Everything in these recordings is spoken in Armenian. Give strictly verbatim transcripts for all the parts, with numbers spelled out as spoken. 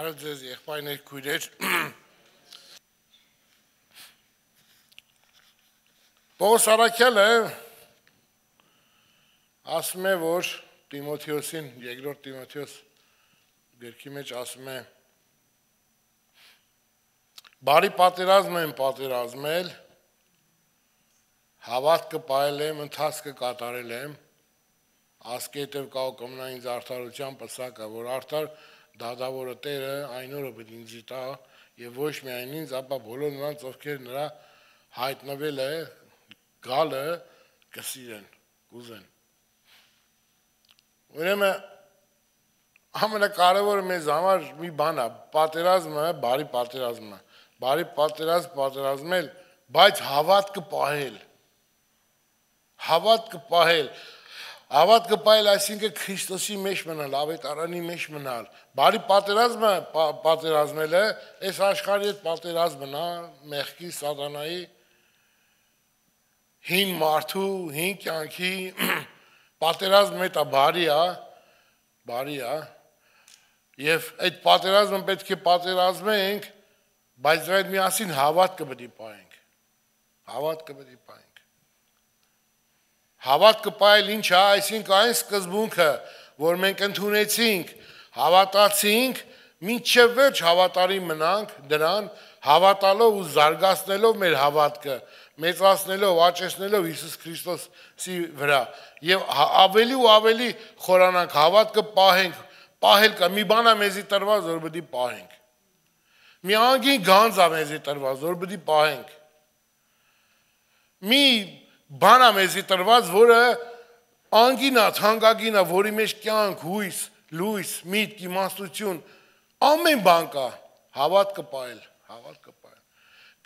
Բարև ձեզ եղբայրներ, քույրեր։ Պողոս Արաքյալը ասում է, որ Տիմոթեոսին, երկրորդ Տիմոթեոս գրքի մեջ ասում է. բարի պատերազմ եմ պատերազմել, հավատքը պահել եմ, ընթացքը կատարել եմ, ասկետև կա ու կմնա ինձ արդարության պսակը, որ արդար դադավորը Տերը այն օրը պետք ինձ տա եւ ոչ միայն ինձ, ապա բոլոր նրանց, ովքեր նրա հայտնվել է գալը կսիրեն, կուզեն։ Ուրեմն ամենակարևորը մեզ համար մի բան է, պատերազմը, բարի պատերազմը, բարի պատերազմ պատերազմել, բայց հավատքը պահել։ Հավատքը պահել, հավատքը պահել, այսինքն Քրիստոսի մեջ մնալ, ավետարանի մեջ մնալ։ Բարի պատերազմը պատերազմելը, այս աշխարհի հետ պատերազմն է, մեղքի, սատանայի, հին մարդու, հին կյանքի պատերազմը հետ է, բարի է, բարի է, եւ այդ պատերազմը պետք է պատերազմենք, բայց դրա հետ միասին հավատքը պետք է պահենք։ Հավատքը պետք է պահենք։ Հավատքը պահել ինչ է, այսինքն այն սկզբունքը, որ մենք ընդունեցինք, հավատացինք, մինչև վերջ հավատարի մնանք դրան, հավատալով ու զարգացնելով մեր հավատքը, մեծացնելով, աճեցնելով Հիսուս Քրիստոսի վրա եւ ավելի ու ավելի խորանանք, հավատքը պահենք, պահել կա, մի բան է մեզի տրված, որ պետք է պահենք։ Մի անգին գանձ է մեզի տրված, որ պետք է պահենք։ Մի բան է մեզի տրված, որը անգին է, թանկագին է, որի մեջ կյանք, հույս, լույս, միտք, իմաստություն, ամեն բան կա, հավատքը պահել, հավատքը պահել։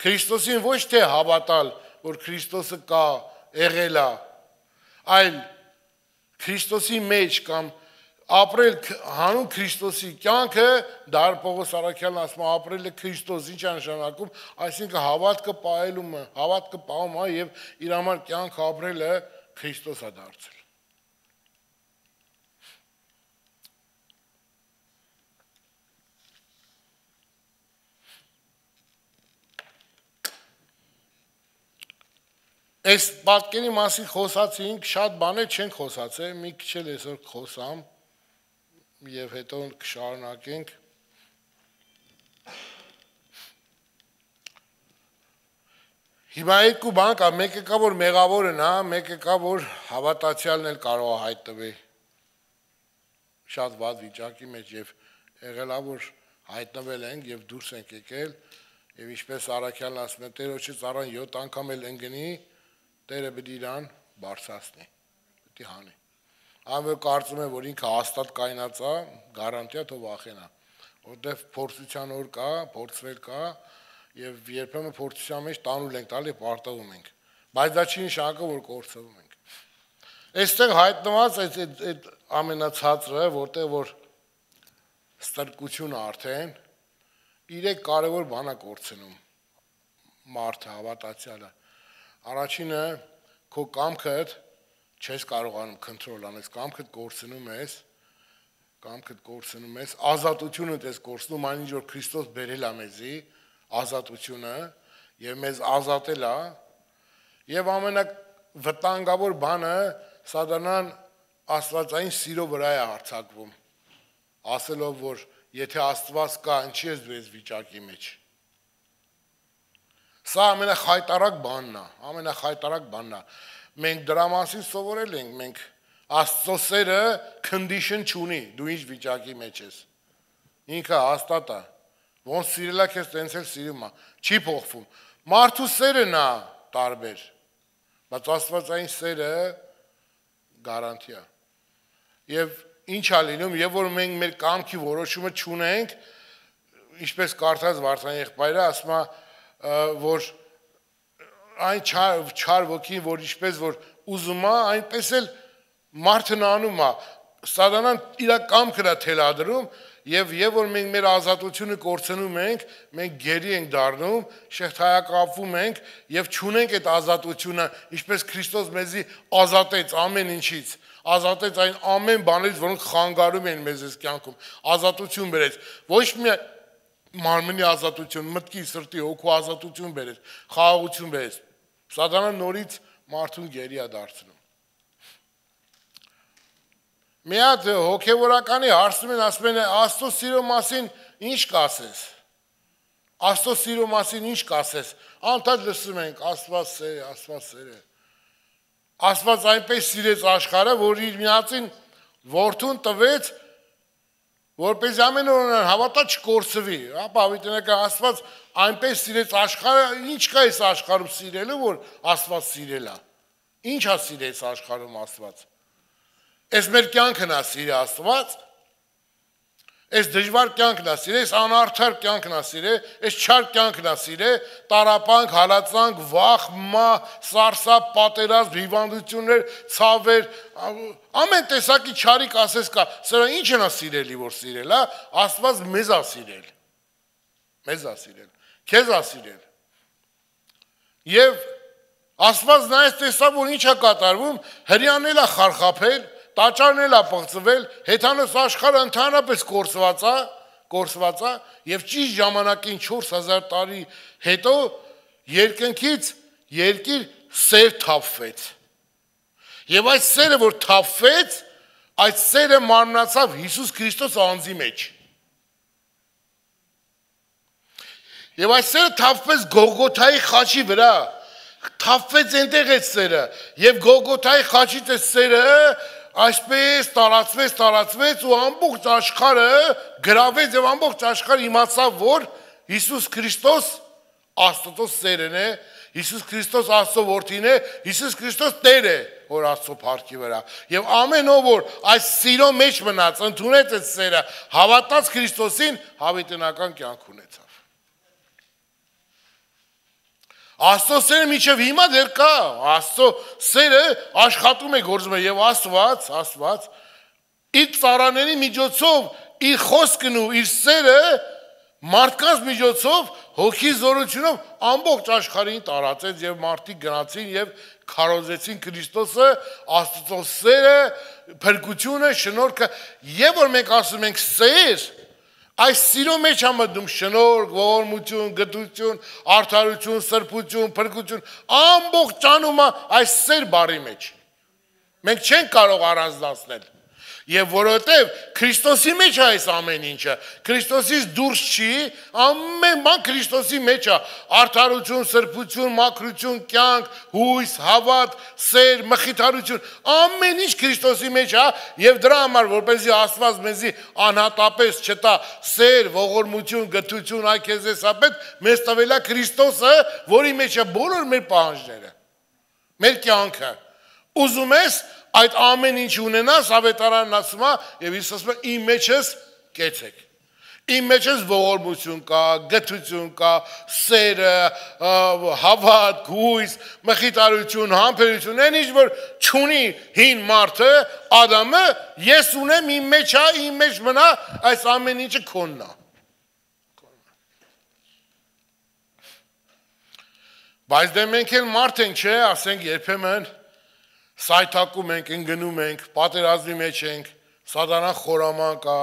Քրիստոսին ոչ թե հավատալ, որ Քրիստոսը կա, եղել է, այլ Քրիստոսի մեջ կամ ապրել հանուն Քրիստոսի կյանքը, դար Պողոս Արաքյալն ասում է, ապրել է Քրիստոս, ինչ է նշանակում, այսինքն հավատքը պահելումը, հավատքը պահում է եւ իր համար կյանք ապրելը Քրիստոս է դարձել։ Այս պատկերի մասին խոսացինք, շատ բաներ չենք խոսացել, մի քիչ էլ այսօր խոսամ եւ հետո կշարունակենք։ Հիմա երկու բան կա, մեկը կա, որ մեղավորն է, մեկը կա, որ հավատացյալն էլ կարող է հայտնվել շատ վատ վիճակի մեջ եւ եղել է, որ հայտնվել ենք եւ դուրս ենք եկել եւ ինչպես Արաքյալն ասում է, Տերոջը ծառան յոթ անգամ էլ ընկնի, Տերը պետք է իրան բարձրացնի, պետք է հանի։ Ամեն կարծում է, որ ինքը հաստատ կայնած է, գարանտիա թող վախենա, որտեվ փորձության օր կա, փորձվել կա եւ երբեմն փորձության մեջ տանուլ ենք տալի, պարտվում ենք, բայց դա չի նշանակում, որ կորցվում ենք։ Այստեղ հայտնված այդ այդ ամենացածը, որտեղ որ ստրկությունը արդեն իրեք կարևոր բան է կորցնում մարդը, հավատացյալը։ Առաջինը քո կամքդ չես կարողանում կոնտրոլ անել, կամքդ կորցնում ես, կամքդ կորցնում ես, ազատությունդ ես կորցնում, այն ինչ որ Քրիստոս բերել է մեզի, ազատությունը եւ մեզ ազատել է, եւ ամենավտանգավոր բանը սատանան աստվածային սիրո վրա է հարձակվում, ասելով որ եթե Աստված կա, ինչի ես դու ես վիճակի մեջ։ Սա ամենախայտարակ բանն է, ամենախայտարակ բանն է։ Մենք դրա մասին սովորել ենք, մենք Աստծո սերը condition չունի, դու ինչ վիճակի մեջ ես։ Ինքը հաստատ է։ Ոնց սիրելա քեզ տենց էլ սիրում է, չի փոխվում։ Մարդու սերն է տարբեր, բայց Աստվածային սերը գարանտիա։ Եվ ինչ է լինում, եւ որ մենք մեր կամքի որոշումը չունենք, ինչպես կարդաց Վարդան եղբայրը, ասում է, որ այն չար, չար ոգին, որ ինչպես որ ուզում է, այնպես էլ մարդն անում է, սատանան իր կամքն է թելադրում եւ եւ որ մենք մեր ազատությունը կորցնում ենք, մենք գերի ենք դառնում, շեղթայակապվում ենք եւ չունենք այդ ազատությունը, ինչպես Քրիստոս մեզի ազատեց ամեն ինչից, ազատեց այն ամեն բանից, որոնք խանգարում են մեզ այս կյանքում, ազատություն բերեց, ոչ միայն մարմնի ազատություն, մտքի, սրտի, հոգու ազատություն բերեց, խաղաղություն բերեց, սատանան նորից մարդուն գերի է դարձնում։ Մի հատ հոգևորականի հարցնում են, ասում են, Աստծո սիրո մասին ինչ կասես, Աստծո սիրո մասին ինչ կասես, անդադ լսում ենք, Աստված սեր է, Աստված սեր է, Աստված այնպես սիրեց աշխարհը, որ իր միածին որդուն տվեց, որպես ամեն օր հավատա չկորսվի, ապա հավիտենական Աստված այնպես սիրեց աշխարհը, ինչ կա այս աշխարհում սիրելու, որ Աստված սիրել է, ինչ է սիրեց աշխարհում Աստված, այս մեր կյանքն է սիրել Աստված, այս դժվար կյանքն է սիրել, այս անարդար կյանքն է սիրել, այս չար կյանքն է սիրել, տարապանք, հալածանք, վախ, մահ, սարսափ, պատերազմ, հիվանդություններ, ցավեր, ամեն տեսակի չարիք ասես կա, սրա ի՞նչն է սիրելի, որ սիրել է, Աստված մեզ է սիրել, մեզ է սիրել, քեզ է սիրել, եւ Աստված նայեց տեսավ, որ ինչ է կատարվում, հրյանն է խարխափել, տաճարն էլ է պղծվել, հեթանոս աշխարհը ընդհանրապես կորսված է, կորսված է, եւ ճիշտ ժամանակին չորս հազար տարի հետո երկնքից երկիր սեր թափվեց։ Եվ այդ սերը, որ թափվեց, այդ սերը մարմնացավ Հիսուս Քրիստոս անձի մեջ։ Եվ այդ սերը թափվեց Գողգոթայի խաչի վրա, թափվեց այնտեղ այդ սերը, եւ Գողգոթայի խաչից այդ սերը այսպես տարածվեց, տարածվեց ու ամբողջ աշխարհը գրավեց եւ ամբողջ աշխարհը իմացավ, որ Հիսուս Քրիստոս Աստծո սերն է, Հիսուս Քրիստոս Աստծո որդին է, Հիսուս Քրիստոս Տեր է, որ Աստծո փառքի վրա։ Եվ ամեն ով որ այս սիրո մեջ մնաց, ընդունեց այդ սերը, հավատաց Քրիստոսին, հավիտենական կյանք ունեցավ։ Աստծո սերը միջև հիմա դեռ կա, Աստծո սերը աշխատում է, գործում է եւ Աստված, Աստված իր ծառաների միջոցով իր խոսքն ու իր սերը մարդկանց միջոցով հոգի զորությունով ամբողջ աշխարհին տարածեց եւ մարդիկ գնացին եւ քարոզեցին Քրիստոսը, Աստծո սերը, փրկությունը, շնորհքը, եւ որ մենք ասում ենք սեր, այս սիրո մեջ է մտնում շնորհք, ողորմություն, գթություն, արդարություն, սրբություն, փրկություն, ամբողջ ճանումը այս սեր բառի մեջ։ Մենք չենք կարող առանձնացնել։ Եվ որովհետև Քրիստոսի մեջ է այս ամեն ինչը, Քրիստոսից դուրս չի, ամեն բան Քրիստոսի մեջ է, արդարություն, սրբություն, մաքրություն, կյանք, հույս, հավատ, սեր, մխիթարություն, ամեն ինչ Քրիստոսի մեջ է, եւ դրա համար որպեսզի Աստված մեզի անհատապես չտա սեր, ողորմություն, գթություն, այ քեզ էսապետ, մեզ տվել է Քրիստոսը, որի մեջ է բոլոր մեր պահանջները, մեր կյանքը։ Ուզում ես այդ ամեն ինչ ունենաս, ավետարանն ասում է, եւ Հիսուս ասում է, իմ մեջս կեցեք։ Իմ մեջս ողորմություն կա, գթություն կա, սերը, հավատ, հույս, մխիթարություն, համբերություն, այն ինչ որ չունի հին մարդը, Ադամը, ես ունեմ, իմ մեջ է, իմ մեջ մնա, այս ամեն ինչը քոնն է։ Բայց դե մենք էլ մարդ ենք, չէ, ասենք երբեմն սայթակում ենք, ընկնում ենք, պատերազմի մեջ ենք, սատանան խորաման կա,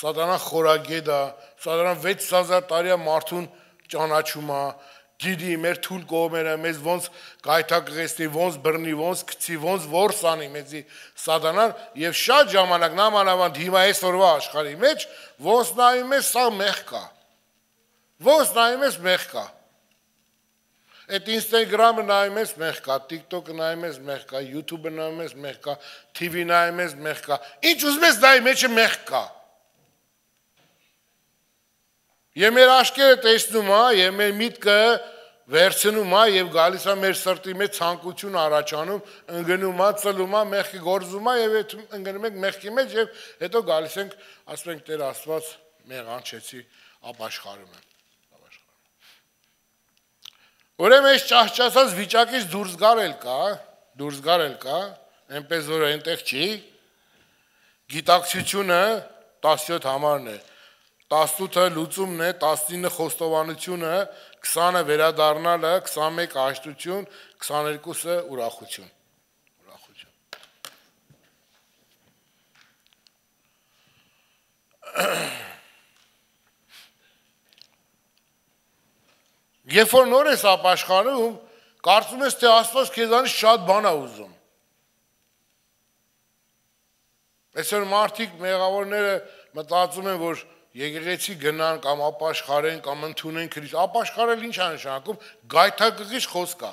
սատանան խորագետ է, սատանան վեց հազար տարի մարդուն ճանաչում է, գիտի մեր թույլ կողմերը, մեզ ոնց գայթակղեցնի, ոնց բռնի, ոնց գցի, ոնց որս անի մեզի սատանան, եւ շատ ժամանակ նամանավանդ հիմա այսօրվա աշխարհի մեջ ոնց նայում ես, սա մեղք կա, ոնց նայում ես, մեղք կա։ Այդ Instagram-ը նայում ես, մեղք կա, TikTok-ը նայում ես, մեղք կա, YouTube-ը նայում ես, մեղք կա, T V նայում ես, մեղք կա, ինչ ուզում ես նայի մեջը մեղք կա։ Եվ մեր աչքերը տեսնում է, եւ մեր միտքը վերցնում է եւ գալիս է մեր սրտի մեջ ցանկություն առաջանում, ընկնում է, ծլում է, մեղքը գործում է եւ այդ ընկնում ենք մեղքի մեջ եւ հետո գալիս ենք, ասում ենք Տեր Աստված, մեղանչեցի, ապաշխարում եմ։ Ուրեմն այս ճահճացած վիճակից դուրս գարել կա, դուրս գարել կա, այնպես որ այնտեղ չի, գիտակցությունը տասնյոթ համարն է, տասնութը լուծումն է, տասնինը խոստովանությունը, քսանը վերադառնալը, քսանմեկը հաշտություն, քսաներկուսը ուրախություն։ Ուրախություն։ Երբ որ նոր ես ապաշխարում, կարծում ես, թե Աստված քեզանից շատ բան է ուզում։ Այսօր մարդիկ մեղավորները մտածում են, որ եկեղեցի գնան կամ ապաշխարեն կամ ընդունեն Քրիստ։ Ապաշխարել ինչ է նշանակում, գայթակղիչ խոսք է։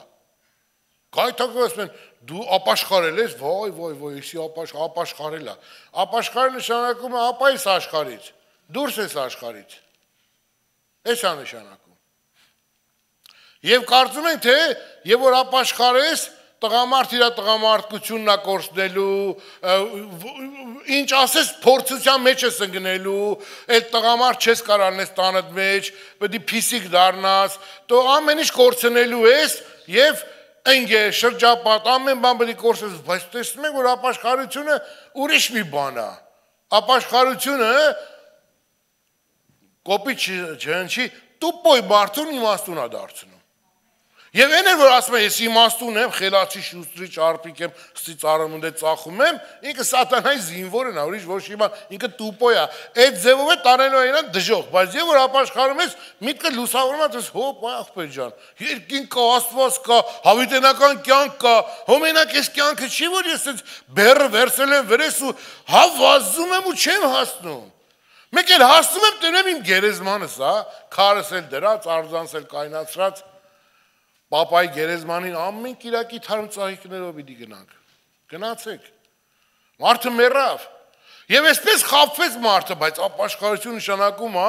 Գայթակղիչ են, դու ապաշխարել ես, վայ, վայ, վայ, էսի ապաշխարել է։ Ապաշխարել նշանակում է ապա ես աշխարհից, դուրս ես աշխարհից։ Էս է նշանակում։ Եվ կարծում են, թե եւ որ ապաշխարես, տղամարդ իր տղամարդկությունն է կորցնելու, ինչ ասես փորձության մեջ ես ընկնելու, այդ տղամարդ չես կարանես տանդ մեջ, պետք է փիսիկ դառնաս, դու ամեն ինչ կորցնելու ես եւ ընկե շրջապատ ամեն բան պետք է կորցնես, բայց տեսնում եք, որ ապաշխարությունը ուրիշ մի բան է։ Ապաշխարությունը կոպիտ չհնչի, տուպոյ մարդուն իմաստուն է դարձնում։ Եվ այն էր, որ ասում է, ես իմաստուն եմ, խելացի շուստրի ճարպիկ եմ, ստի ծառամունդ է ծախում եմ, ինքը սատանայի զինվորն է, ուրիշ ոչ մի բան, ինքը տուպոյ է, այդ ձևով է տարելու է իրան դժոխք, բայց եւ որ ապաշխարում ես, միտքը լուսավորում ես, հոպ, ախպեր ջան, երկին կա, Աստված կա, հավիտենական կյանք կա, հոմենակ այս կյանքը չի, որ ես այս բեռը վերցել եմ վրես ու հա վազում եմ ու չեմ հասնում։ Մեկ էլ հասնում եմ, տենեմ իմ գերեզմանս, հա, քարս էլ դրած, արձանս էլ կայնացրած, Պապայի գերեզմանին ամեն կիրակի թարմ ծաղիկներով պիտի գնանք։ Գնացեք։ Մարդը մեռավ։ Եվ այսպես խաբվեց մարդը, բայց ապաշխարություն նշանակում է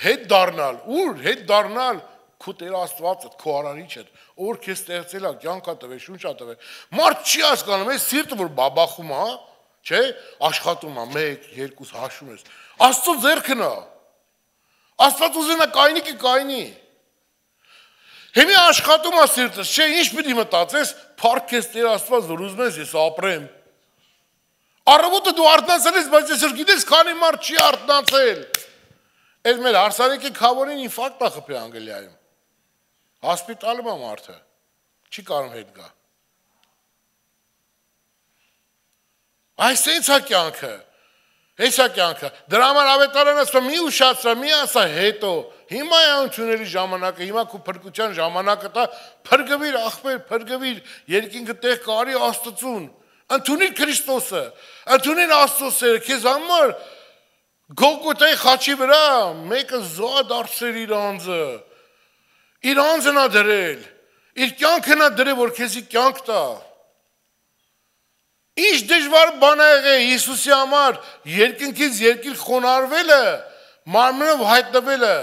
հետ դառնալ։ Ուր հետ դառնալ քո Տեր Աստվածը, քո արարիչը, որ քեզ ստեղծել է, կյանք է տվել, շունչ է տվել։ Մարդ չի հասկանում, այս սիրտը որ բաբախում է, չէ, աշխատում է, մեկ, երկու հաշում ես։ Աստծո ձեռքն է։ Աստված ուզենա կայնիկը կայնի։ Հիմի աշխատում է սիրտս, չէ, ինչ պիտի մտածես, փառք քեզ Տեր Աստված, որ ուզում ես ես ապրեմ։ Առավոտը դու արթնացել ես, բայց այսօր գիտես քանի մարդ չի արթնացել։ Այս մեր հարսանեկի քավորին ինֆարկտ է խփի Անգլիայում։ Հոսպիտալում է մարդը։ Չի կարող հետ գա։ Այս է ցա կյանքը։ Հեսա կյանքը, դրա համար ավետարանը ասում մի ուշացրա, մի ասա հետո, հիմա է ընդունելի ժամանակը, հիմա քո փրկության ժամանակը տա, փրկվիր ախպեր, փրկվիր, երկինքը տեղ կարի Աստծուն, ընդունիր Քրիստոսը, ընդունիր Աստծո սերը, քեզ համար Գողգոթայի խաչի վրա մեկը զոհ դարձրել իր անձը, իր անձն է դրել, իր կյանքն է դրել, որ քեզի կյանք տա։ Ինչ դժվար բան է եղել Հիսուսի համար երկնքից երկիր խոնարհվելը, մարմնով հայտնվելը,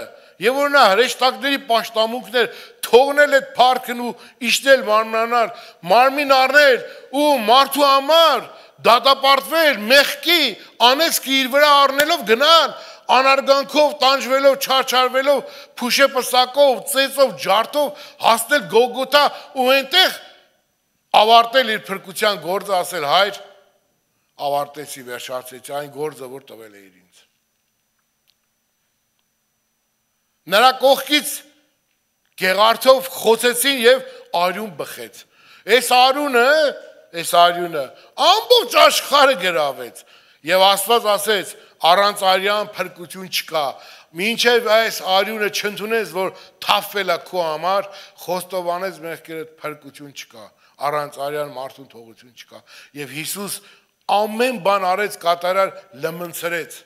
եւ որ նա հրեշտակների պաշտամունքներ թողնել այդ փառքն ու իշտել մարմնանար, մարմին առնել ու մարդու համար դատապարտվել, մեղքի անեծքի իր վրա առնելով գնալ, անարգանքով, տանջվելով, չարչարվելով, փուշեպսակով, ծեծով, ջարդով հասնել Գողգոթա ու այնտեղ ավարտել իր փրկության գործը, ասել հայր, ավարտեցի, վերջացեցի այն գործը, որ տվել է ինձ։ Նրա կողքից գեղարդով խոցեցին եւ արյուն բխեց։ Այս արյունը, այս արյունը ամբողջ աշխարհը գրավեց եւ Աստված ասեց, առանց արյան փրկություն չկա։ Մինչև այս արյունը չընդունես, որ թափվել է քո համար, խոստովանես մեղքերդ, փրկություն չկա։ Առանց արյան մարդուն թողություն չկա։ Եվ Հիսուս ամեն բան արեց, կատարար, լմնցրեց,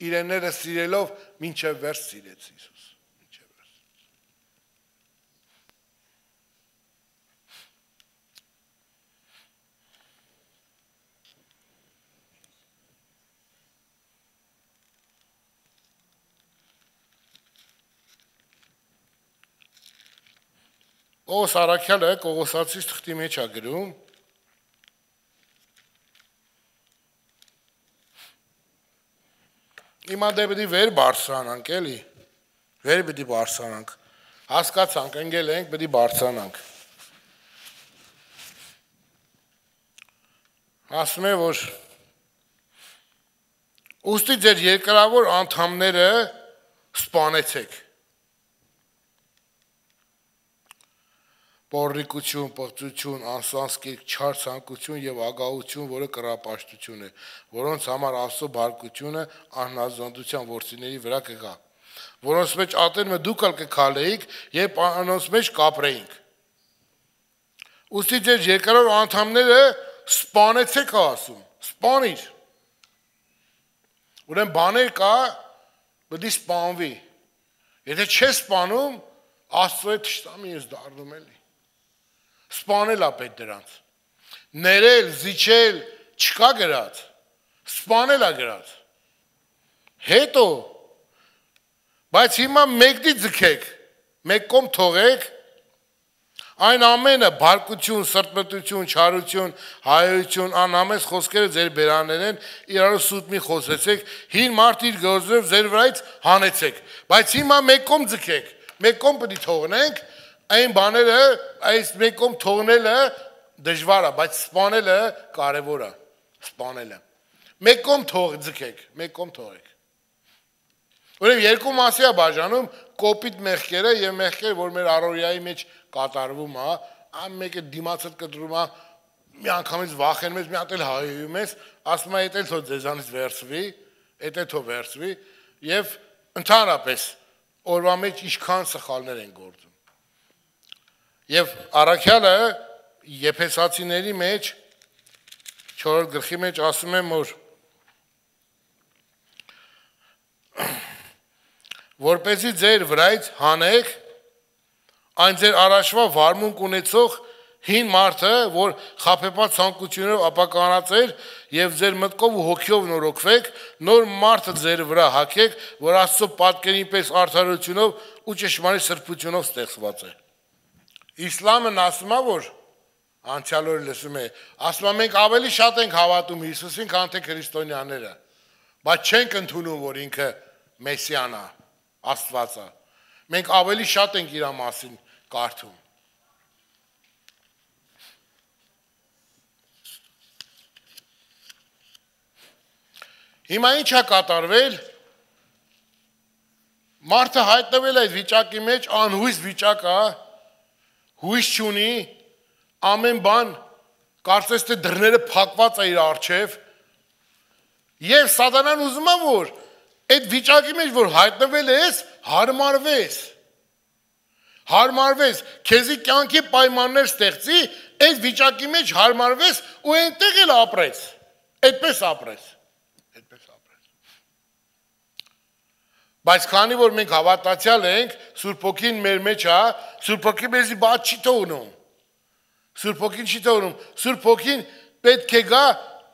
իրենները սիրելով, մինչև վերջ սիրեց Հիսուս։ Մինչև վերջ։ Պողոս առաքյալը Կողոսացիս թղթի մեջ է գրում. Հիմա դե պետք է վեր բարձրանանք, էլի, վեր պետք է բարձրանանք, հասկացանք, ընկել ենք, պետք է բարձրանանք։ Ասում է, որ ուստի ձեր երկրավոր անդամները սպանեցեք։ Պոռիկություն, պղծություն, անսանսկերք, չար ցանկություն եւ ագահություն, որը կռապաշտություն է, որոնց համար Աստծո բարկությունը անհնազանդության ворցիների վրա կգա, որոնց մեջ ատեն մը դուք ալ կքալեիք եւ անոնց մեջ կապրեինք։ Ուստի ձեր երկրորդ անդամները սպանեցեք ասում, սպանիր։ Ուրեմն բաներ կա, պետք է սպանվի։ Եթե չես սպանում, Աստծո հետ թշնամի ես դառնում էլի։ Սպանել է պետք դրանց։ Ներել, զիջել չկա գրած։ Սպանել է գրած։ Հետո բայց հիմա մեկդի ձգեք, մեկ կողմ թողեք, այն ամենը բարկություն, սրտմտություն, չարություն, հայություն, անհամես խոսքերը ձեր բերաններ են, իրարու սուտ մի խոսեցեք, հին մարդ իր գործով ձեր վրայից հանեցեք, բայց հիմա մեկ կողմ ձգեք, մեկ կողմ պետք է թողնենք, այն բաները, այս մեկ կողմ թողնելը դժվար է, բայց սպանելը կարևոր է, սպանելը։ Մեկ կողմ թող ձգեք, մեկ կողմ թողեք։ Ուրեմն երկու մասի է բաժանում կոպիտ մեղքերը եւ մեղքերը, որ մեր առօրյայի մեջ կատարվում է, այն մեկը դիմացդ կտրում է, մի անգամից վախենում ես, մի հատ էլ հայում ես, ասում է դա թող ձեզանից վերցվի, դա թող վերցվի եւ ընդհանրապես օրվա մեջ ինչքան սխալներ են գործում։ Եվ առաքյալը Եփեսացիների մեջ չորրորդ գլխի մեջ ասում է, որ որպեսզի ձեր վրայից հանեք այն ձեր առաջվա վարմունք ունեցող հին մարդը, որ խաբեբաց ցանկություններով ապականած էր եւ ձեր մտքով ու հոգիով նորոգվեք, նոր մարդը ձեր վրա հագեք, որ Աստծո պատկերին պես արդարությունով ու ճշմարիտ սրբությունով ստեղծված է։ Իսլամն ասում է, որ անցյալ օրը լսում է, ասում է մենք ավելի շատ ենք հավատում Հիսուսին, քան թե քրիստոնյաները, բայց չենք ընդունում, որ ինքը Մեսիան է, Աստված է։ Մենք ավելի շատ ենք իր մասին կարդում։ Հիմա ինչ է կատարվել, մարդը հայտնվել այդ վիճակի մեջ, անհույս վիճակ է, հույս չունի, ամեն բան, կարծես թե դռները փակված է իր առջև, եւ սատանան ուզում է, որ այդ վիճակի մեջ, որ հայտնվել ես, հարմարվես, հարմարվես, քեզի կյանքի պայմաններ ստեղծի, այդ վիճակի մեջ հարմարվես ու այնտեղ էլ ապրես, այդպես ապրես, այդպես ապրես։ Բայց քանի որ մենք հավատացյալ ենք, Սուրբ Հոգին մեր մեջ է, Սուրբ Հոգին մեզի բաց չի թողնում, Սուրբ Հոգին չի թողնում, Սուրբ Հոգին պետք է գա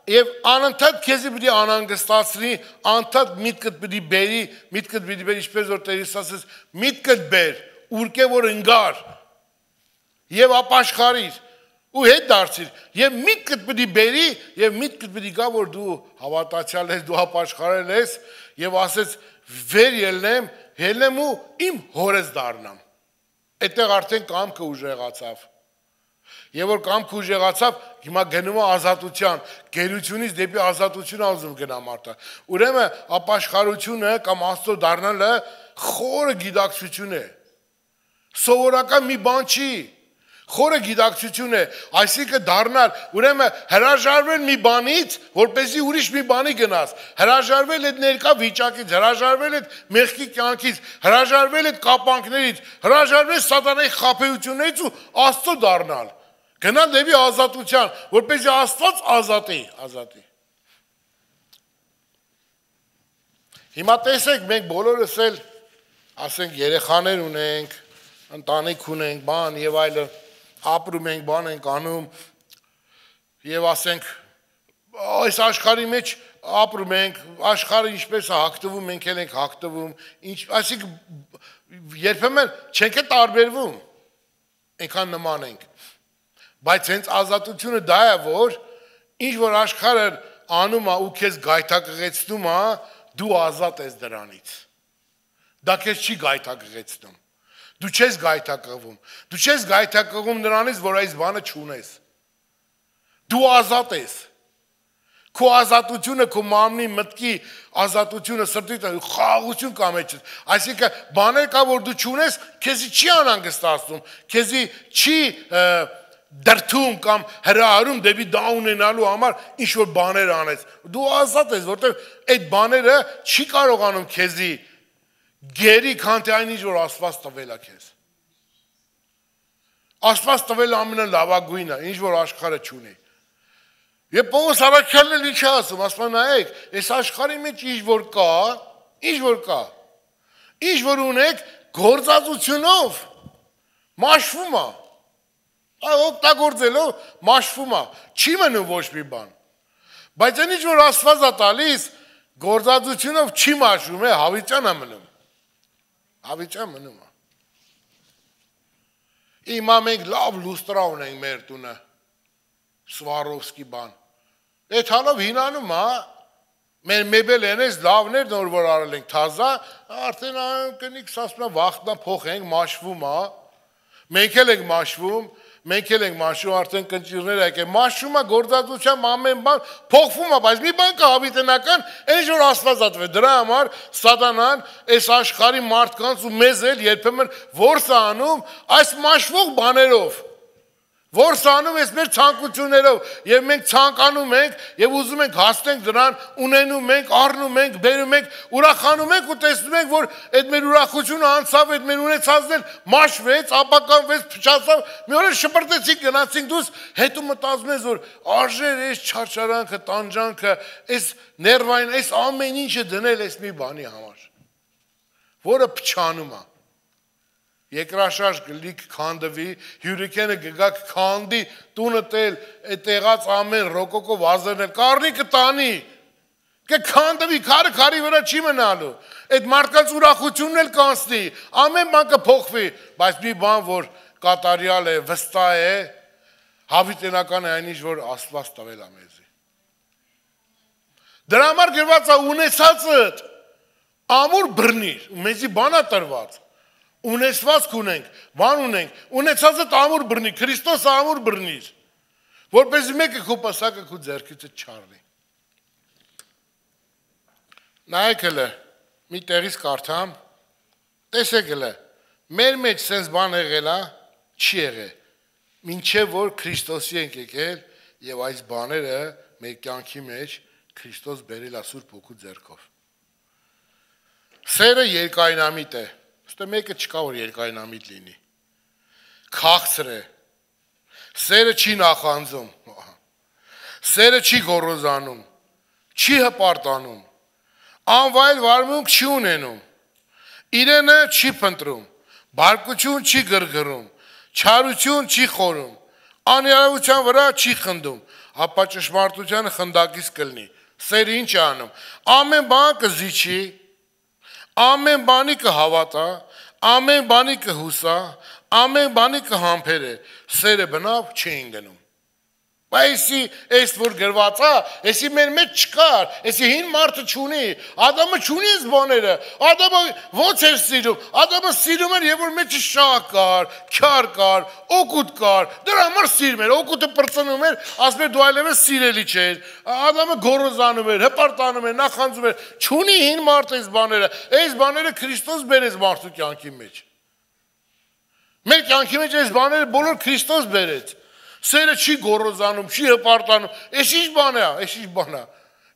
եւ անընդհատ քեզի պիտի անհանգստացնի, անընդհատ միտքդ պիտի բերի, միտքդ պիտի բերի, ինչպես որ Տեր Հիսուս ասեց, միտքդ բեր, ուրկե որ ընկար եւ ապաշխարիր ու հետ դարձիր եւ միտքդ պիտի բերի եւ միտքդ պիտի գա, որ դու հավատացյալ ես, դու ապաշխարել ես եւ ասես վեր ելնեմ, ելնեմ ու իմ հորս դառնամ։ Այդտեղ արդեն կամքը ուժեղացավ։ Եվ որ կամքը ուժեղացավ, հիմա գնում է ազատության, գերությունից դեպի ազատություն ազում գնա մարդը։ Ուրեմն ապաշխարությունը կամ Աստծո դառնալը խորը գիտակցություն է։ Սովորական մի բան չի։ Խորը գիտակցություն է, այսինքն դառնալ, ուրեմն հրաժարվել մի բանից, որպեսզի ուրիշ մի բանի գնաս, հրաժարվել այդ ներկա վիճակից, հրաժարվել այդ մեղքի կյանքից, հրաժարվել այդ կապանքներից, հրաժարվել սատանայի խաբեություններից ու Աստծո դառնալ, գնալ դեպի ազատության, որպեսզի Աստված ազատի, ազատի։ Հիմա տեսեք, մենք բոլորս էլ, ասենք, երեխաներ ունենք, ընտանիք ունենք, բան եւ այլն, ապրում ենք, բան ենք անում եւ ասենք այս աշխարհի մեջ ապրում ենք, աշխարհը ինչպես է հագտվում, մենք էլ ենք հագտվում, ինչ, այսինքն երբեմն չենք տարբերվում, այնքան նման ենք, բայց հենց ազատությունը դա է, որ ինչ որ աշխարհը անում է ու քեզ գայթակղեցնում է, դու ազատ ես դրանից, դա քեզ չի գայթակղեցնում։ Դու չես գայթակղվում, դու չես գայթակղվում նրանից, որ այս բանը չունես, դու ազատ ես, քո ազատությունը, քո մարմնի մտքի ազատությունը, սրտի խաղաղություն կա մեջդ։ Այսինքն բաներ կա, որ դու չունես, քեզի չի անհանգստացնում, քեզի չի դրթում կամ հրահարում դեպի դա ունենալու համար ինչ որ բաներ անես։ Դու ազատ ես, որտեղ այդ բաները չի կարողանում քեզի գերի, քան թե այն ինչ որ Աստված տվել է քեզ։ Աստված տվել ամենալավագույնը, ինչ որ աշխարհը չունի։ Եվ Պողոս առաքյալն էլ ինչ է ասում, ասում նայեք, այս աշխարհի մեջ ինչ որ կա, ինչ որ կա, ինչ որ ունեք գործածությունով մաշվում է։ Օգտագործելով մաշվում է, չի մնում ոչ մի բան։ Բայց այն ինչ որ Աստված է տալիս, գործածությունով չի մաշվում, է հավիտյան է մնում։ Հավիտյան մնում է։ Հիմա մենք լավ լուստրա ունենք մեր տունը, Սվարովսկի բան։ Այդ հալով հինանում է, մեր մեբելեն ես լավներ նոր որ արել ենք թազա, արդեն կնիք սասմնա վախտնա փոխենք, մաշվում է, մենք էլ ենք մաշվում, մենք էլ ենք մաշում, արդեն կնճիրներ եկել, մաշում է գործածությամբ ամեն բան փոխվում է, բայց մի բան կա հավիտենական, այն որ Աստված ատվել, դրա համար սատանան այս աշխարհի մարդկանց ու մեզ էլ երբեմն որս է անում այս մաշվող բաներով, որս է անում այս մեր ցանկություններով, եւ մենք ցանկանում ենք եւ ուզում ենք հասնենք դրան, ունենում ենք, առնում ենք, բերում ենք, ուրախանում ենք ու տեսնում ենք, որ այդ մեր ուրախությունը անցավ, այդ մեր ունեցածն էլ մաշվեց, ապականվեց, փչացավ, մի օր շպրտեցինք, գնացինք դուրս, հետո մտածում ես, որ արժեր այս չարչարանքը, տանջանքը, այս ներվային, այս ամեն ինչը դնել այս մի բանի համար, որը փչանում է։ Երկրաշարժ գլիք քանդվի, հյուրիկենը գգակ քանդի, տունը տել, տեղած ամեն ռոկոկո վազերն էլ կարնի կտանի, կքանդվի, քարը քարի վրա չի մնալու, այդ մարդկանց ուրախությունն էլ կանցնի, ամեն բան կփոխվի, բայց մի բան, որ կատարյալ է, վստահ է, հավիտենական է այն ինչ, որ Աստված տվել է մեզի։ Դրա համար գրված է ունեցածդ ամուր բռնիր, մեզի բան է տրված։ Ունեցվածք ունենք, բան ունենք, ունեցածը ամուր բռնի, Քրիստոսը ամուր բռնիր, որպեսզի մեկը քո պսակը քո ձեռքիցը չառնի։ Նայեք հələ, մի տեղից կարդամ, տեսեք հələ, մեր մեջ սենց բան եղել է, չի եղել, մինչև որ Քրիստոսի ենք եկել եւ այս բաները մեր կյանքի մեջ Քրիստոս բերել է Սուրբ Հոգու ձեռքով։ Սերը երկայնամիտ է։ Ստե մեկը չկա որ երկայնամիտ լինի։ Քաղցր է։ Սերը չի նախանձում։ Սերը չի գոռոզանում, չի հպարտանում։ Անվայել վարմունք չի ունենում։ Իրենը չի փնտրում, բարկություն չի գրգռում, չարություն չի խորում, անիրավության վրա չի խնդում, ապա ճշմարտությանը խնդակից կլինի։ Սերը ինչ է անում։ Ամեն բան կզիջի, ամեն բանի կհավատա, ամեն բանի կհուսա, ամեն բանի կհամբերե, սերը բնավ չէին գնում։ Այսի այս որ գրված է, այսի մեր մեջ չկար, այսի հին մարդը չունի, Ադամը չունի այս բաները, Ադամը ոնց էր սիրում, Ադամը սիրում էր, երբ որ մեջը շահ կար, քյար կար, օգուտ կար, դրա համար սիրում էր, օգուտը պրծնում էր, ասում էր դու այլևս սիրելի չէր, Ադամը գոռոզանում էր, հպարտանում էր, նախանձում էր, չունի հին մարդը այս բաները, այս բաները Քրիստոս բերեց մարդու կյանքի մեջ։ Մեր կյանքի մեջ այս բաները բոլոր Քրիստոս բերեց։ Սերը չի գոռոզանում, չի հպարտանում, այս ինչ բան է, այս ինչ բան է,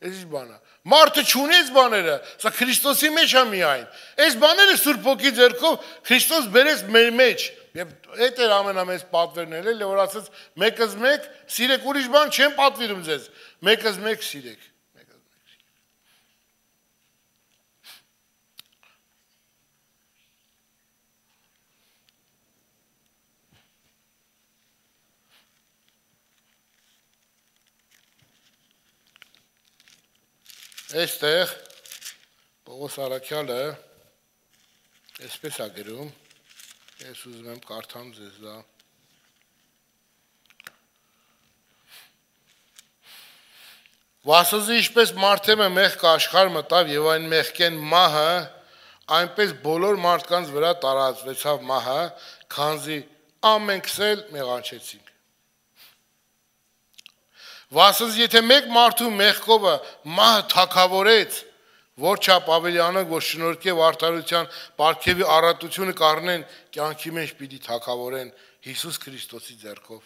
այս ինչ բան է։ Մարդը չունի այս բաները, սա Քրիստոսի մեջ է միայն։ Այս բաները Սուրբ Հոգի ձեռքով Քրիստոս բերեց մեր մեջ։ Եվ այդ էր ամենամեծ պատվերն էլ, որ ասաց մեկս մեկ սիրեք, ուրիշ բան չեմ պատվիրում ձեզ, մեկս մեկ սիրեք։ Այստեղ Պողոս առաքյալը այսպես է գրում, ես ուզում եմ կարդամ ձեզ դա։ Վասոզի ինչպես մարդեմը մեղք աշխարհ մտավ եւ այն մեղքեն մահը, այնպես բոլոր մարդկանց վրա տարածվեցավ մահը, քանզի ամենքս էլ մեղանչեցինք։ Վասնց եթե մեկ մարդու մեղքովը մահը թագավորեց, որ չափ ավելի անենք, որ շնորհքև արդարության պարգևի առատությունը կառնեն, կյանքի մեջ պիտի թագավորեն Հիսուս Քրիստոսի ձեռքով։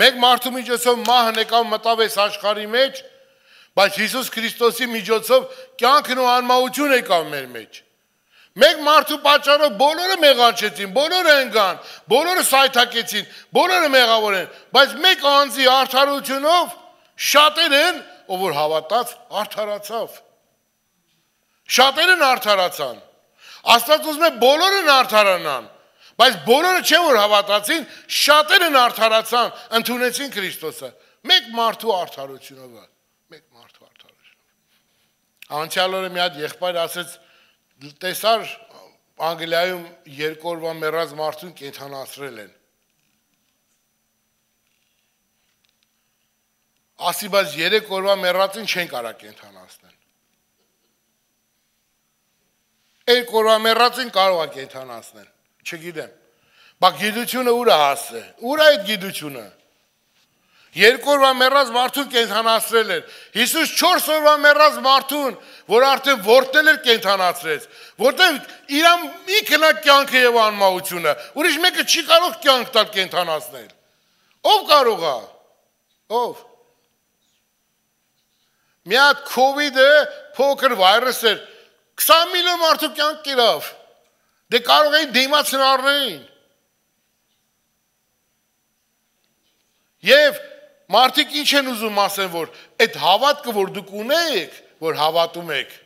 Մեկ մարդու միջոցով մահը եկավ մտավ այս աշխարհի մեջ, բայց Հիսուս Քրիստոսի միջոցով կյանքն ու անմահությունը եկավ մեր մեջ։ Մեկ մարդու պատճառով բոլորը մեղանչեցին, բոլորը ընկան, բոլորը սայթակեցին, բոլորը մեղավոր են, բայց մեկ անձի արդարությունով շատերն, ով որ հավատաց, արդարացավ։ Շատերն արդարացան։ Աստված ուզում է բոլորն արդարանան, բայց բոլորը չէ որ հավատացին, շատերն արդարացան, ընդունեցին Քրիստոսը։ Մեկ մարդու արդարությունով, մեկ մարդու արդարությունով։ Անցյալ օրը մի հատ եղբայր ասեց, տեսար Անգլիայում երկու օրվա մեռած մարդուն կենդանացրել են։ Ասի, բայց երեք օրվա մեռածին չեն կարա կենդանացնել։ Երկու օրվա մեռածին կարող է կենդանացնել, չգիտեմ։ Բա գիտությունը ուր է հասել։ Ուր է այդ գիտությունը։ Երկու օրվա մեռած մարդուն կենդանացրել էր։ Հիսուս չորս օրվա մեռած մարդուն, որ արդեն որդնել էր կենդանացրեց, որտեղ իրան մի քնա կյանքը եւ անմահությունը, ուրիշ մեկը չի կարող կյանք տալ կենդանացնել։ Ով կարող է։ Ով։ Մի հատ COVID-ը փոքր վայրս էր, քսան միլիոն մարդու կյանք կերավ։ Դե կարող էին դիմաց հնարներին։ Եվ մարդիկ ինչ են ուզում ասեն, որ այդ հավատքը, որ դուք ունեք, որ հավատում եք,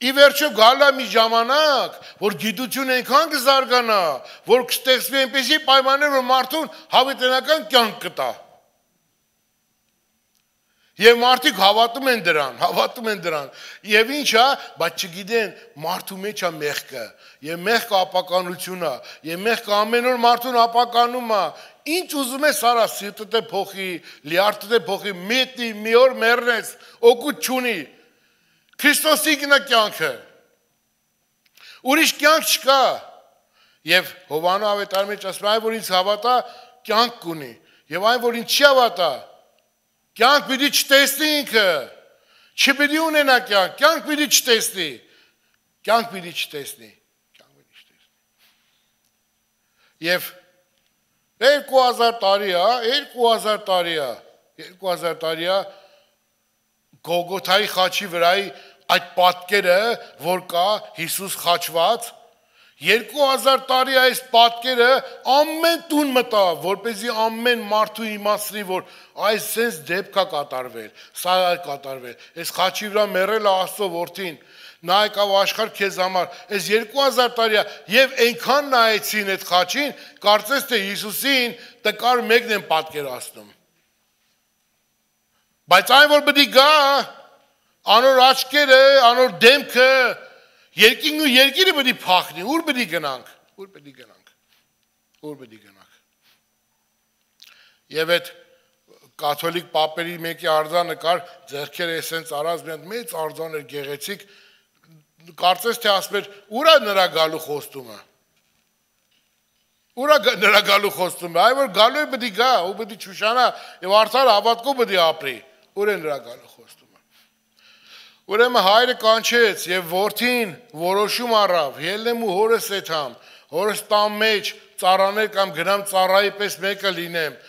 ի վերջո գալա մի ժամանակ, որ գիտությունը այնքան կզարգանա, որ կստեղծվի այնպեսի պայմաններ, որ մարդուն հավիտենական կյանք կտա։ Եվ մարդիկ հավատում են դրան, հավատում են դրան, եւ ինչ է, բայց չգիտեն մարդու մեջ է մեղքը, եւ մեղքը ապականությունն է, եւ մեղքը ամեն օր մարդուն ապականում է, ինչ ուզում է սարա սիրտդ է փոխի, լիարդդ է փոխի, միտի մի օր մեռնես, օգուտ չունի, Քրիստոսի գնա կյանքը, ուրիշ կյանք չկա, եւ Հովանու ավետարանի մեջ ասում է, այն որ ինձ հավատա, կյանք կունի, եւ այն որ ինձ չի հավատա, կյանք պիտի չտեսնի ինքը, չպիտի ունենա կյանք, կյանք պիտի չտեսնի, կյանք պիտի չտեսնի, կյանք պիտի չտեսնի։ Եվ երկու հազար տարի է, երկու հազար տարի է, երկու հազար տարի է Գողգոթայի խաչի վրայի այդ պատկերը, որ կա Հիսուս խաչված, երկու հազար տարի այս պատկերը ամեն տուն մտավ, որպեսզի ամեն մարդու իմացնի, որ այս sense դեպք է կատարվել, սա է կատարվել, այս խաչի վրա մեռել է Աստծո որդին, նա եկավ աշխարհ քեզ համար, այս երկու հազար տարի է, եւ այնքան նայեցին այդ խաչին, կարծես թե Հիսուսին տկար մեկն են պատկերացնում։ Բայց այն որ պետք է գա, անոր աչքերը, անոր դեմքը, երկինն ու երկիրը պետք է փախնի, ուր պետք է գնանք, ուր պետք է գնանք, ուր պետք է գնանք։ Եվ այդ կաթոլիկ պապերի մեկի արձանը կար, ձեռքերը էսենց արած մի հատ մեծ արձան էր գեղեցիկ, կարծես թե ասում էր, ուր է նրա գալու խոստումը։ Ուր է նրա գալու խոստումը, այ որ գալու է պետք է գա, ու պետք է չուշանա, եւ արդար հավատքով պետք է ապրի, ուր է նրա գալու խոստումը։ Ուրեմն հայրը կանչեց եւ որդին որոշում առավ, ելնեմ ու հորս եթամ, հորս տան մեջ ծառաներ կամ գնամ ծառայի պես մեկը լինեմ,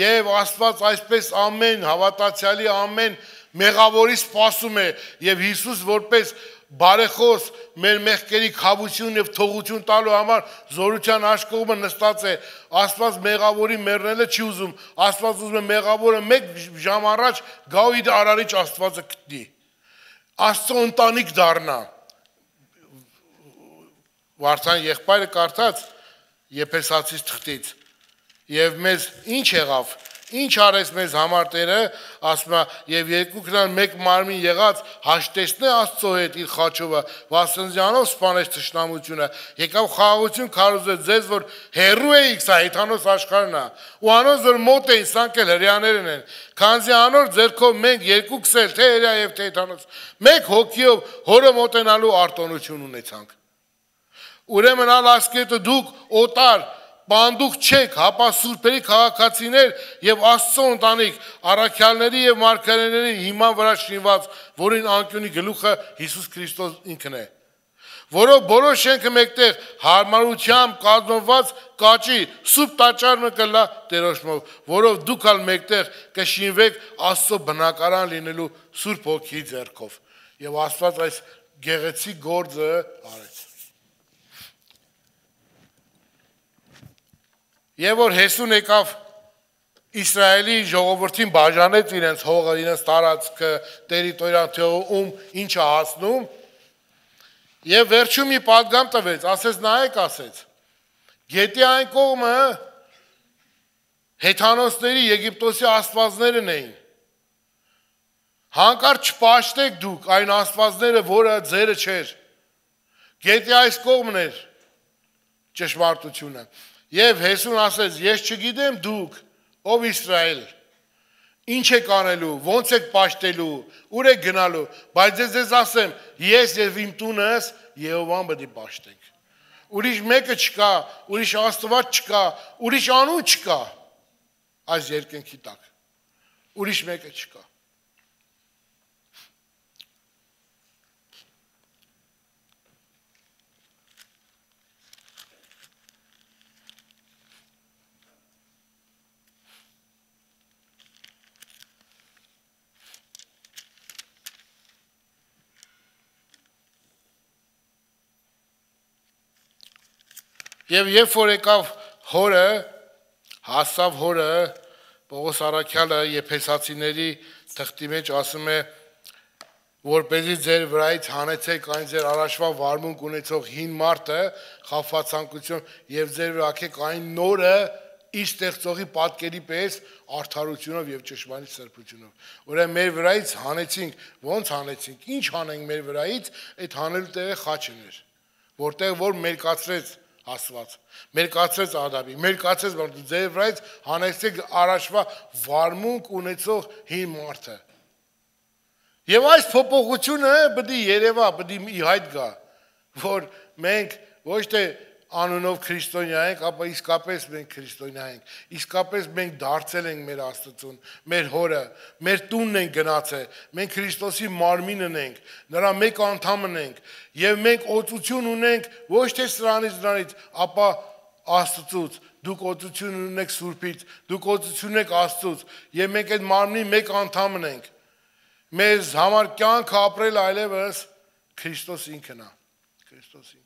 եւ Աստված այսպես ամեն հավատացյալի ամեն մեղավորի սպասում է, եւ Հիսուս որպես բարեխոս մեր մեղքերի քավություն եւ թողություն տալու համար զորության աշխողը նստած է, Աստված մեղավորի մեռնելը չի ուզում, Աստված ուզում է մեղավորը մեկ ժամ առաջ գա ու իր արարիչ Աստվածը գտնի, Աստծո ընտանիք դառնա։ Վարդան եղբայրը կարդաց Եփեսացիս թղթից, եւ մեզ ինչ եղավ, ինչ արեց մեզ համար Տերը, ասում է, եւ երկուքն մեկ մարմին եղած հաշտեցնե Աստծո հետ իր խաչովը, վասնզյանով սպանեց թշնամությունը, եկավ խաղաղություն քարոզեց ձեզ, որ հերրու էիք, սա հեթանոս աշխարհն է, ու անոնց որ մոտ էին, սրանք էլ հրեաներն են, քանզի անոր ձեռքով մենք երկուքս էլ թե հրեա եւ թե հեթանոս, մեկ հոգիով հորը մոտենալու արտոնություն ունեցանք։ Ուրեմն ալ ասկետը դուք օտար պանդուկ չեք, հապա սուրբերի քաղաքացիներ եւ Աստծո ընտանիք, առաքյալների եւ մարգարեների հիման վրա շինված, որին անկյունի գլուխը Հիսուս Քրիստոս ինքն է, որով բոլոր շենքը մեկտեղ հարմարությամբ կազմված կաճի սուրբ տաճարը կլա Տերոջմով, որով դուք ալ մեկտեղ կշինվեք Աստծո բնակարան լինելու Սուրբ Հոգի ձեռքով։ Եվ Աստված այս գեղեցիկ գործը արեց։ Եվ որ Հեսուն եկավ Իսրայելի ժողովրդին բաժանեց իրենց հողը, իրենց տարածքը, տերիտորիան, թե ում ինչը հասնում, եւ վերջում մի պատգամ տվեց, ասեց նայեք, ասեց, գետի այն կողմը հեթանոսների, Եգիպտոսի աստվածներն էին, հանկարծ չպաշտեք դուք այն աստվածները, որը ձերը չէր, գետի այս կողմն էր ճշմարտությունը, եւ Հեսուն ասեց, ես չգիտեմ դուք, ով Իսրայել, ինչ եք անելու, ոնց եք պաշտելու, ուր եք գնալու, բայց ես ձեզ ասեմ, ես եւ իմ տունս Եհովան պետք է պաշտենք։ Ուրիշ մեկը չկա, ուրիշ Աստված չկա, ուրիշ անուն չկա այս երկնքի տակ։ Ուրիշ մեկը չկա։ Եվ երբ որ եկավ հորը, հասավ հորը, Պողոս առաքյալը եփեսացիների թղթի մեջ ասում է, որպեսզի ձեր վրայից հանեցեք այն ձեր առաջվա վարմունք ունեցող հին մարդը, խաբվածանկություն եւ ձեր վրա ակեք այն նորը իր ստեղծողի պատկերի պես արդարությունով եւ ճշմարիտ սրբությունով։ Ուրեմն մեր վրայից հանեցինք, ո՞նց հանեցինք, ինչ հանենք մեր վրայից, այդ հանելու տեղը խաչն էր, որտեղ որ մերկացրեց Աստված, մերկացրեց Ադամի, մերկացրեց ձեր վրայից հանեցեք առաջվա վարմունք ունեցող հին մարդը։ Եվ այս փոփոխությունը պետք է երևա, պետք է ի հայտ գա, որ մենք ոչ թե անունով քրիստոնյա ենք, ապա իսկապես մենք քրիստոնյա ենք, իսկապես մենք դարձել ենք մեր Աստծուն, մեր հորը, մեր տունն ենք գնացել, մենք Քրիստոսի մարմինն ենք, նրա մեկ անդամն ենք, եւ մենք օծություն ունենք ոչ թե սրանից դրանից, ապա Աստծուց, դուք օծություն ունեք Սուրբից, դուք օծություն ունեք Աստծուց, եւ մենք այդ մարմնի մեկ անդամն ենք, մեզ համար կյանք ապրել այլևս Քրիստոս ինքն է, Քրիստոս ինքն է։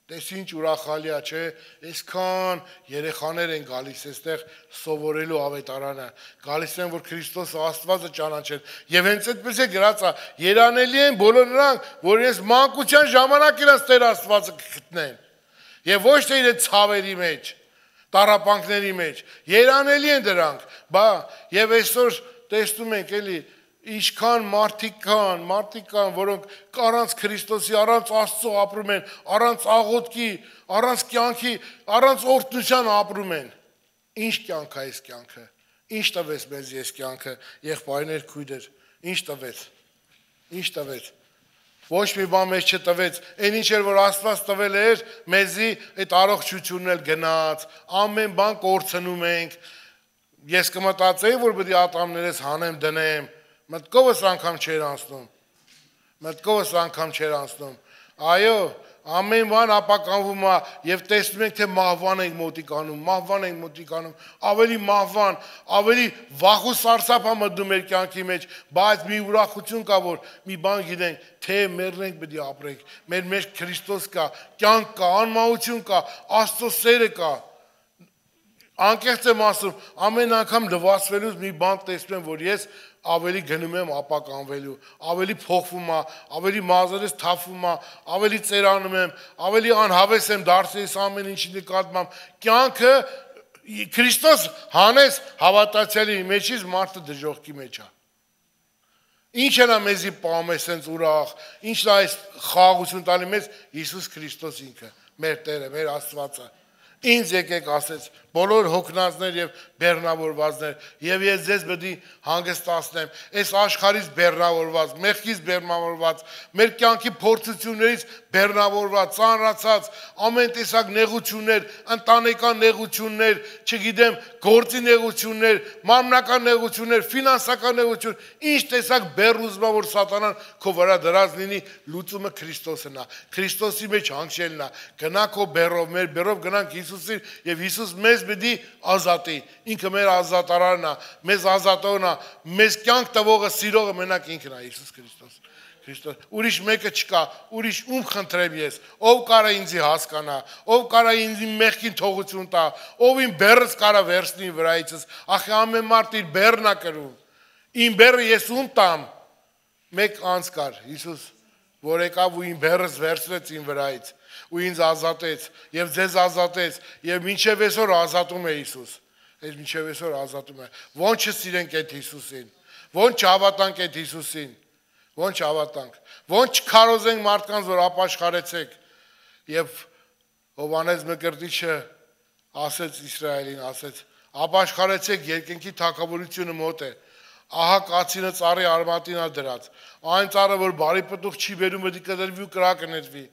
Տես ինչ ուրախալի է, չէ, այսքան երեխաներ են գալիս այստեղ սովորելու ավետարանը, գալիս են, որ Քրիստոսը Աստվածը ճանաչեն, եւ հենց այդպես է գրած, երանելի են բոլոր նրանք, որ իրենց մանկության ժամանակ իրենց Տեր Աստվածը կգտնեն, եւ ոչ թե իրենց ցավերի մեջ, տառապանքների մեջ, երանելի են դրանք, բա եւ այսօր տեսնում ենք էլի Ինչքան մարդիկ կան, մարդիկ կան, որոնք առանց Քրիստոսի, առանց Աստծո ապրում են, առանց աղոթքի, առանց կյանքի, առանց օրհնության ապրում են։ Ինչ կյանք է այս կյանքը։ Ինչ տվեց մեզ այս կյանքը, եղբայրներ, քույրեր, ինչ տվեց։ Ինչ տվեց։ Ոչ մի բան մեզ չտվեց, այն ինչ էր որ Աստված տվել էր, մեզի այդ առողջությունն էլ գնաց, ամեն բան կորցնում ենք։ Ես կմտածեի, որ պետք է ատամներս հանեմ, դնեմ, մտքովս անգամ չեր անցնում, մտքովս անգամ չեր անցնում, այո, ամեն բան ապականվում է և տեսնում ենք, թե մահվան ենք մոտիկանում, մահվան ենք մոտիկանում, ավելի մահվան, ավելի վախ ու սարսափ է մտնում մեր կյանքի մեջ, բայց մի ուրախություն կա, որ մի բան գիտենք, թե մեռնենք պետք է ապրենք, մեր մեջ Քրիստոս կա, կյանք կա, անմահություն կա, Աստծո սերը կա, անկեղծ եմ ասում, ամեն անգամ լվացվելուց մի բան տեսնում եմ, որ ես ավելի գնում եմ ապականվելու, ավելի փոխվում է, ավելի մազերս թափվում է, ավելի ծերանում եմ, ավելի անհավես եմ դարձել ամեն ինչի նկատմամբ, կյանքը Քրիստոս հանեց հավատացյալի մեջից մարդը դժոխքի մեջ է։ Ինչ է նա մեզի պահում է սենց ուրախ, ինչն է այս խաղաղություն տալի մեզ Հիսուս Քրիստոս ինքը, մեր Տերը, մեր Աստվածը։ Ինձ եկեք ասեց, բոլոր հոգնածներ եւ բեռնավորվածներ, եւ ես ձեզ պետք է հանգստացնեմ, այս աշխարհից բեռնավորված, մեղքից բեռնավորված, մեր կյանքի փորձություններից բեռնավորված, ծանրացած, ամեն տեսակ նեղություններ, ընտանեկան նեղություններ, չգիտեմ, գործի նեղություններ, մարմնական նեղություններ, ֆինանսական նեղություն, ինչ տեսակ բեռնուզմա որ սատանան քո վրա դրած լինի, լուծումը Քրիստոսն է, Քրիստոսի մեջ հանգչելն է, գնա քո բեռով, մեր բեռով գնանք Հիսուսին եւ Հիսուս մեզ պետք է ազատի, ինքը մեր ազատարարն է, մեզ ազատողն է, մեզ կյանք տվողը, սիրողը մենակ ինքն է, Հիսուս Քրիստոս։ Քրիստոս, ուրիշ մեկը չկա, ուրիշ ում խնդրեմ ես, ով կարա ինձի հասկանա, ով կարա ինձի մեղքին թողություն տա, ով իմ բեռս կարա վերցնի վրայիցս, ախ ամեն մարդ իր բեռն է կրում, իմ բեռը ես ում տամ, մեկ անց կար, Հիսուս, որ եկավ ու իմ բեռս վերցրեց իմ վրայից, ու ինձ ազատեց, եւ ձեզ ազատեց, եւ մինչեւ այսօր ազատում է Հիսուս, այս մինչեւ այսօր ազատում է, ոնց չսիրենք այդ Հիսուսին, ոնց չհավատանք այդ Հիսուսին, ոնց չհավատանք, ոնց չքարոզենք մարդկանց, որ ապաշխարեցեք, եւ Հովհաննես Մկրտիչը ասեց Իսրայելին, ասեց, ապաշխարեցեք, երկնքի թագավորությունը մոտ է, ահա կացինը ծառի արմատին է դրած, այն ծառը, որ բարի պտուղ չի բերում, պետք է կտրվի ու կրակը նետվի,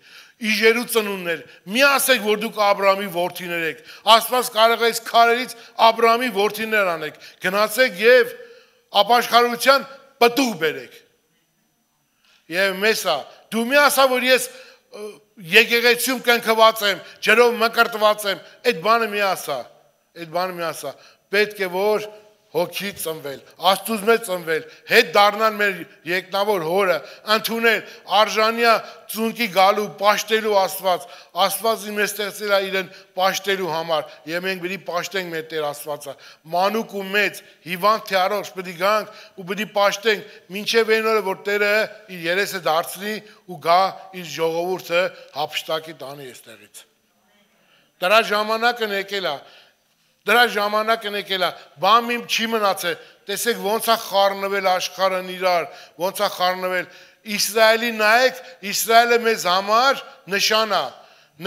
իժերու ծնուններ, մի ասեք, որ դուք Աբրահամի որդիներ եք, Աստված կարող է այս քարերից Աբրահամի որդիներ անեք, գնացեք եւ ապաշխարության պտուղ բերեք։ Եվ մեսա, դու մի ասա, որ ես եկեղեցիում կնքված եմ, ջրով մկրտված եմ, այդ բանը մի ասա, այդ բանը մի ասա, պետք է որ հոգի ծնվել, Աստծուց մեջ ծնվել, հետ դառնալ մեր երկնավոր հորը, ընդունել արժանիա ծունկի գալու, պաշտելու Աստված, Աստված իմ ստեղծել է իրեն պաշտելու համար, եւ մենք պետք է պաշտենք մեր Տեր Աստվածը, մանուկ ու մեծ, հիվանդ թե առողջ պետք է գանք ու պետք է պաշտենք, մինչեւ այն օրը, որ Տերը իր երեսը դարձնի ու գա իր ժողովուրդը հափշտակի տանի այստեղից։ Դրա ժամանակն եկել է, Դրա ժամանակն եկել է, բան իմ չի մնացել, տեսեք ոնց է խառնվել աշխարհն իրար, ոնց է խառնվել, Իսրայելի նայեք, Իսրայելը մեզ համար նշան է,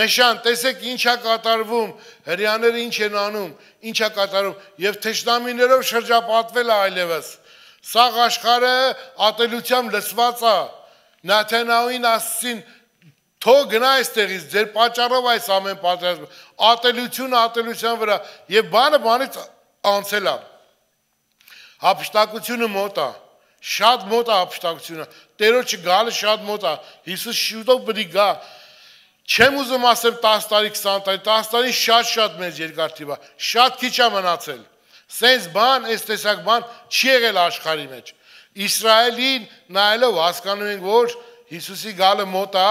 նշան, տեսեք ինչ է կատարվում, հրեաները ինչ են անում, ինչ է կատարվում, եւ թշնամիներով շրջապատվել է այլևս, սաղ աշխարհը ատելությամբ լցված է, Նաթանայելին ասին Թող գնա այստեղից, ձեր պատճառով այս ամեն պատերազմը, ատելությունը ատելության վրա, եւ բանը բանից անցել է։ Հափշտակությունը մոտ է, շատ մոտ է հափշտակությունը, Տերոջը գալը շատ մոտ է, Հիսուս շուտով պետք է գա։ Չեմ ուզում ասեմ տասը տարի, քսան տարի, տասը տարի շատ-շատ մեծ երկար թիվ է, շատ քիչ է մնացել։ Սենց բան, այս տեսակ բան չի եղել աշխարհի մեջ։ Իսրայելին նայելով հասկանում ենք, որ Հիսուսի գալը մոտ է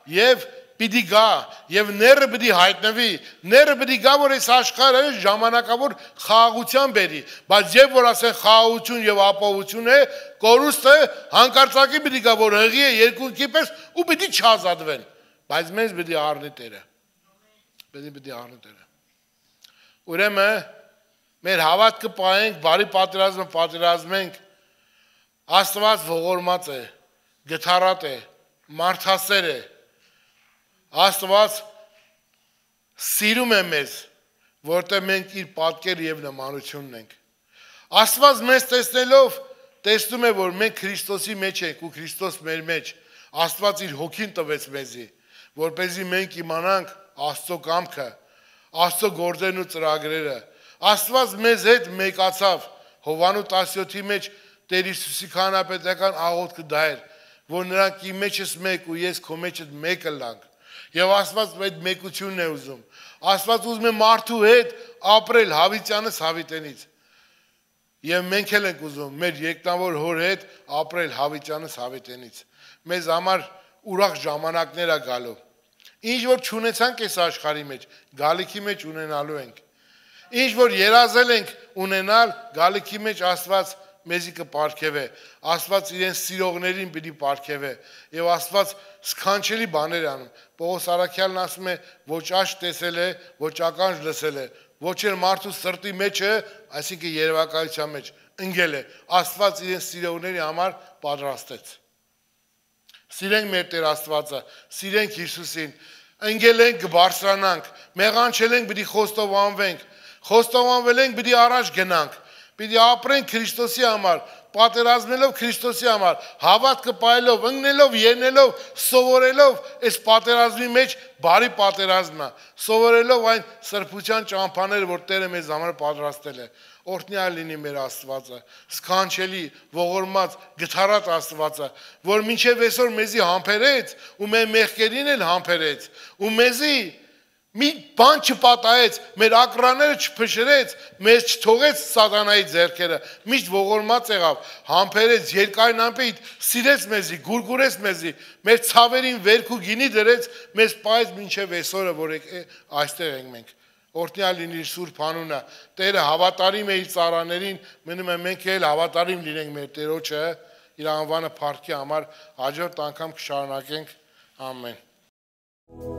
եւ պիտի գա եւ ները պիտի հայտնվի, ները պիտի գա, որ այս աշխարհը ժամանակավոր խաղաղության բերի, բայց եւ որ ասեն խաղաղություն եւ ապահովություն է, կորուստը հանկարծակի պիտի գա, որ հղի է երկունքի պես ու պիտի չազատվեն, բայց մեզ պիտի առնի Տերը, պիտի պիտի առնի Տերը։ Ուրեմն մեր հավատքը պահենք, բարի պատերազմը պատերազմենք, Աստված ողորմած է, գթառատ է, մարդասեր է, Աստված սիրում է մեզ, որտեղ մենք իր պատկերը եւ նմանությունն ենք։ Աստված մեզ տեսնելով տեսնում է, որ մենք Քրիստոսի մեջ ենք ու Քրիստոս մեր մեջ։ Աստված իր հոգին տվեց մեզի, որպեսզի մենք իմանանք Աստծո կամքը, Աստծո գործերն ու ծրագրերը։ Աստված մեզ հետ մեկացավ Հովհաննես տասնյոթի մեջ Տեր Հիսուսի քահանապետական աղոթքը դա էր, որ նրանք իմ մեջս մեկ ու ես քո մեջդ մեկը լանք։ Եվ Աստված այդ մեկությունն է ուզում։ Աստված ուզում է մարդու հետ ապրել հավիտյանս հավիտենից։ Եվ մենք էլ ենք ուզում մեր երկնավոր հոր հետ ապրել հավիտյանս հավիտենից։ Մեզ համար ուրախ ժամանակներ է գալու։ Ինչ որ չունեցանք այս աշխարհի մեջ, գալիքի մեջ ունենալու ենք։ Ինչ որ երազել ենք ունենալ, գալիքի մեջ Աստված մեզի կպարգևե, Աստված իրեն սիրողներին պիտի պարգևե եւ Աստված սքանչելի բաներ անում։ Պողոս Արաքյալն ասում է, ոչ աչք տեսել է, ոչ ականջ լսել է, ոչ էլ մարդու սրտի մեջը, այսինքն երևակայության մեջ ընկել է, Աստված իրեն սիրողների համար պատրաստեց։ Սիրենք մեր Տեր Աստվածը, սիրենք Հիսուսին, ընկել ենք կբարձրանանք, մեղանչել ենք պիտի խոստովանվենք, խոստովանվել ենք պիտի առաջ գնանք, պիտի ապրենք Քրիստոսի համար, պատերազմելով Քրիստոսի համար, հավատքը պայելով, ընկնելով, ելնելով, սովորելով այս պատերազմի մեջ բարի պատերազմն է, սովորելով այն սրբության ճամփաները, որ Տերը մեզ համար պատրաստել է։ Օրհնյալ լինի մեր Աստվածը, սքանչելի, ողորմած, գթառատ Աստվածը, որ մինչև այսօր մեզի համբերեց ու մեր մեղքերին էլ համբերեց, ու մեզի մի բան չպատահեց, մեր ակրաները չփշրեց, մեզ չթողեց սատանայի ձեռքերը, միշտ ողորմած եղավ, համբերեց, երկայն ամպիտ, սիրեց մեզի, գուրգուրեց մեզի, մեր ցավերին վերք ու գինի դրեց, մեզ պահեց մինչև այսօրը, որ այստեղ ենք մենք։ Օրհնյալ լինի Սուրբ անունը, Տերը հավատարիմ է իր ծառաներին, մնում է մենք էլ հավատարիմ լինենք մեր Տերոջը, իր անվանը փառքի համար, հաջորդ անգամ կշարունակենք, ամեն։